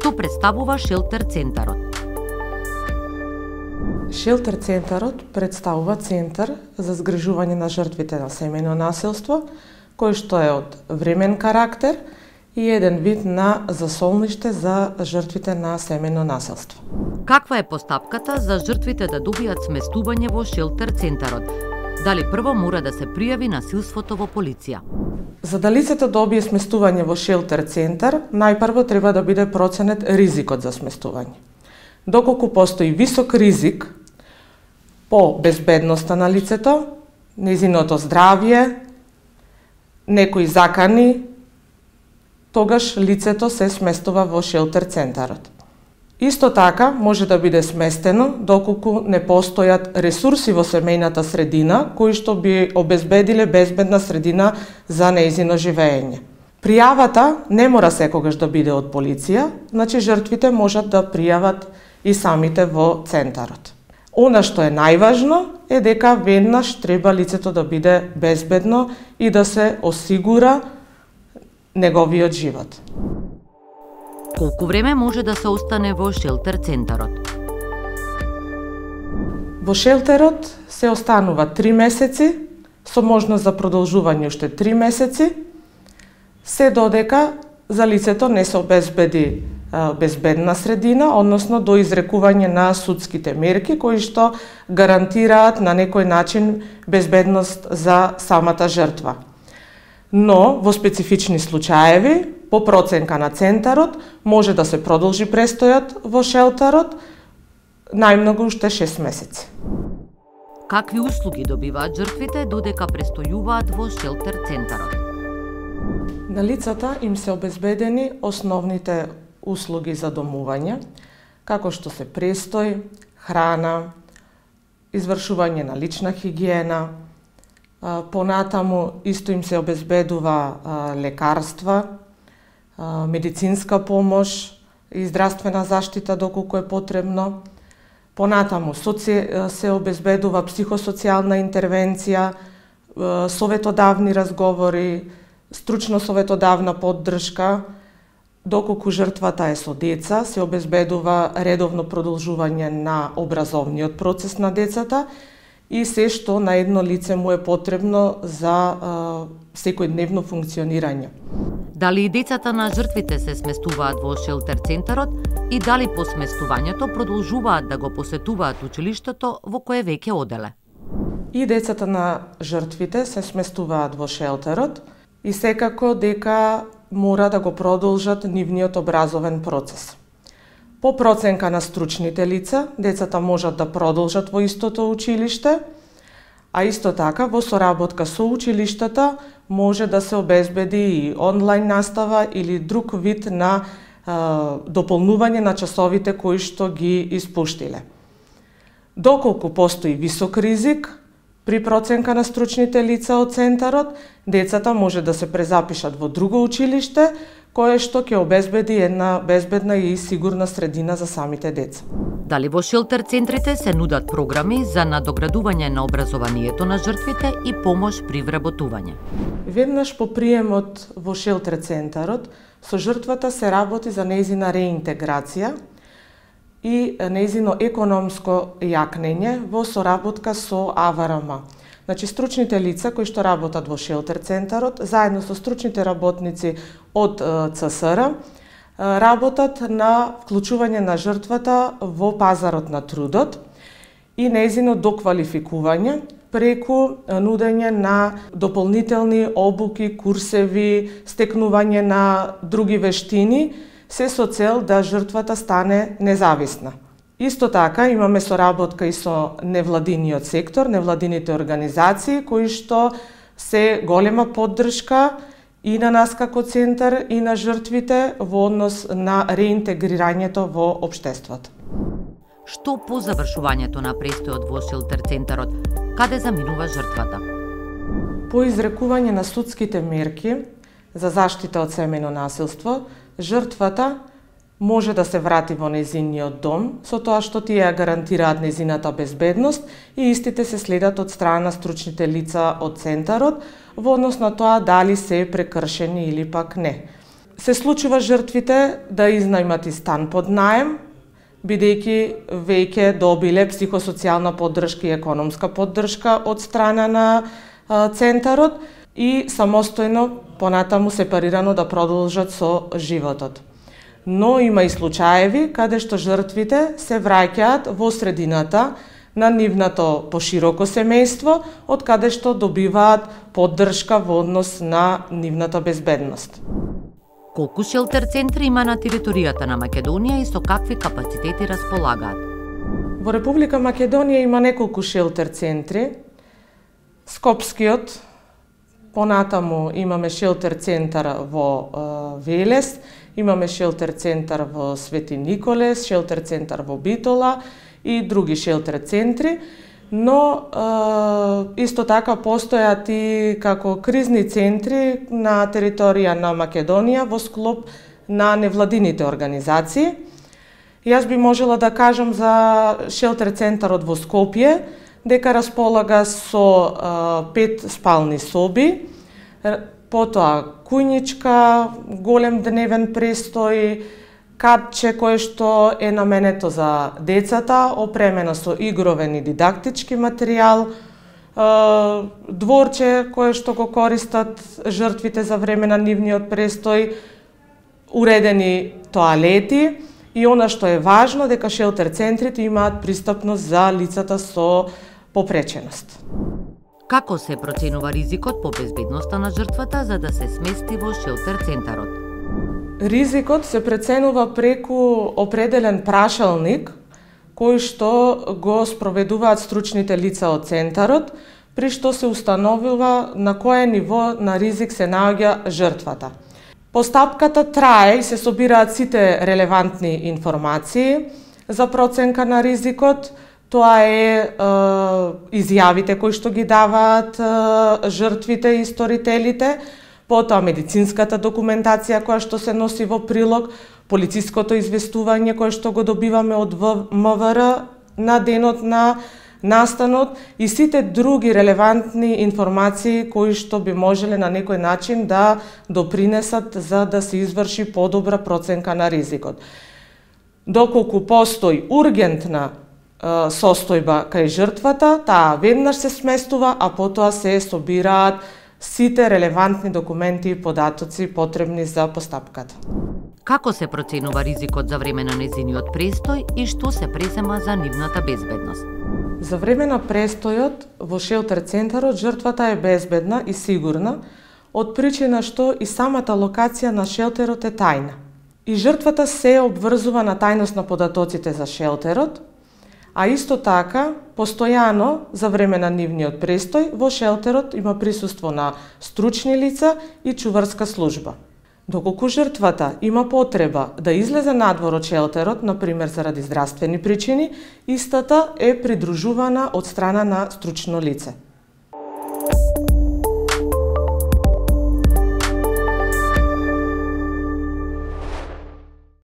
Што представува Шелтер центарот? Шелтер центарот представува центар за згрижување на жртвите на семејно насилство, кој што е од времен карактер и еден вид на засолниште за жртвите на семејно насилство. Каква е постапката за жртвите да добијат сместување во Шелтер центарот? Дали прво мора да се пријави насилството во полиција? За да лицето добие сместување во Шелтер центар, најпрво треба да биде проценет ризикот за сместување. Доколку постои висок ризик по безбедноста на лицето, нејзиното здравје, некои закани, тогаш лицето се сместува во Шелтер центарот. Исто така може да биде сместено доколку не постојат ресурси во семејната средина кои што би обезбедиле безбедна средина за нејзино живење. Пријавата не мора секогаш да биде од полиција, значи жртвите можат да пријават и самите во центарот. Она што е најважно е дека веднаш треба лицето да биде безбедно и да се осигура неговиот живот. Колку време може да се остане во Шелтер центарот? Во шелтерот се останува 3 месеци, со можност за продолжување уште 3 месеци, се додека за лицето не се обезбеди безбедна средина, односно до изрекување на судските мерки кои што гарантираат на некој начин безбедност за самата жртва. Но во специфични случаеви, по проценка на центарот, може да се продолжи престојот во шелтерот најмногу уште 6 месеци. Какви услуги добиваат жртвите додека престојуваат во Шелтер центарот? На лицата им се обезбедени основните услуги за домување, како што се престој, храна, извршување на лична хигиена, понатаму исто им се обезбедува лекарства, медицинска помош и здравствена заштита доколку е потребно. Понатаму се обезбедува психосоцијална интервенција, советодавни разговори, стручно-советодавна поддршка. Доколку жртвата е со деца, се обезбедува редовно продолжување на образовниот процес на децата и се што на едно лице му е потребно за секојдневно функционирање. Дали и децата на жртвите се сместуваат во Шелтер центарот и дали по сместувањето продолжуваат да го посетуваат училиштето во кое веќе оделе? И децата на жртвите се сместуваат во шелтерот и секако дека мора да го продолжат нивниот образовен процес. По проценка на стручните лица, децата можат да продолжат во истото училиште, а исто така во соработка со училиштата може да се обезбеди и онлайн настава или друг вид на дополнување на часовите кои што ги испуштиле. Доколку постои висок ризик, при проценка на стручните лица од центарот, децата може да се презапишат во друго училиште, кое што ќе обезбеди една безбедна и сигурна средина за самите деца. Дали во Шелтер центрите се нудат програми за надоградување на образованието на жртвите и помош при вработување? Веднаш по приемот во Шелтер центарот, со жртвата се работи за нејзина реинтеграција и нејзино економско јакнење во соработка со АВРМ. Значи, стручните лица кои што работат во Шелтер центарот, заедно со стручните работници од ЦСР, работат на вклучување на жртвата во пазарот на трудот и нејзино доквалификување преку нудење на дополнителни обуки, курсеви, стекнување на други вештини, се со цел да жртвата стане независна. Исто така имаме соработка и со невладиниот сектор, невладините организации, кои што се голема поддршка и на нас како центар и на жртвите во однос на реинтегрирањето во општеството. Што по завршувањето на престојот во Шелтер центарот, каде заминува жртвата? По изрекување на судските мерки за заштита од семејно насилство, жртвата може да се врати во нејзиниот дом, со тоа што тие ја гарантираат нејзината безбедност и истите се следат од страна на стручните лица од центарот, во однос на тоа дали се прекршени или пак не. Се случува жртвите да изнајмат и стан под наем, бидејќи веќе добиле психосоцијална поддршка и економска поддршка од страна на центарот и самостојно понатаму сепарирано да продолжат со животот. Но има и случаеви каде што жртвите се враќаат во средината на нивното пошироко семејство, од каде што добиваат поддршка во однос на нивната безбедност. Колку шелтер центри има на територијата на Македонија и со какви капацитети располагаат? Во Република Македонија има неколку шелтер центри. Скопскиот, понатаму имаме шелтер центар во Велес, имаме шелтер центар во Свети Николес, шелтер центар во Битола и други шелтер центри, но исто така постојат и како кризни центри на територија на Македонија во склоп на невладините организации. Јас би можела да кажам за шелтер центарот во Скопје, дека располага со 5 спални соби, потоа кујничка, голем дневен престој, катче кое што е наменето за децата, опремено со игровен и дидактички материјал, дворче кое што го користат жртвите за време на нивниот престој, уредени тоалети и она што е важно дека шелтер центрите имаат пристапност за лицата со попреченост. Како се проценува ризикот по безбедноста на жртвата за да се смести во шелтер центарот? Ризикот се преценува преку определен прашалник кој што го спроведуваат стручните лица од центарот, при што се установува на кое ниво на ризик се наоѓа жртвата. Постапката трае и се собираат сите релевантни информации за проценка на ризикот. Тоа е изјавите кои што ги даваат жртвите и сторителите, потоа медицинската документација која што се носи во прилог, полициското известување кое што го добиваме од МВР на денот на настанот и сите други релевантни информации кои што би можеле на некој начин да допринесат за да се изврши подобра проценка на ризикот. Доколку постои ургентна состојба кај жртвата, таа веднаш се сместува, а потоа се собираат сите релевантни документи и податоци потребни за постапката. Како се проценува ризикот за време на нејзиниот престој и што се презема за нивната безбедност? За време на престојот во шелтер центарот жртвата е безбедна и сигурна од причина што и самата локација на шелтерот е тајна. И жртвата се обврзува на тајност на податоците за шелтерот, а исто така, постојано за време на нивниот престој, во шелтерот има присуство на стручни лица и чуварска служба. Доколку жртвата има потреба да излезе надвор од шелтерот, например заради здравствени причини, истата е придружувана од страна на стручно лице.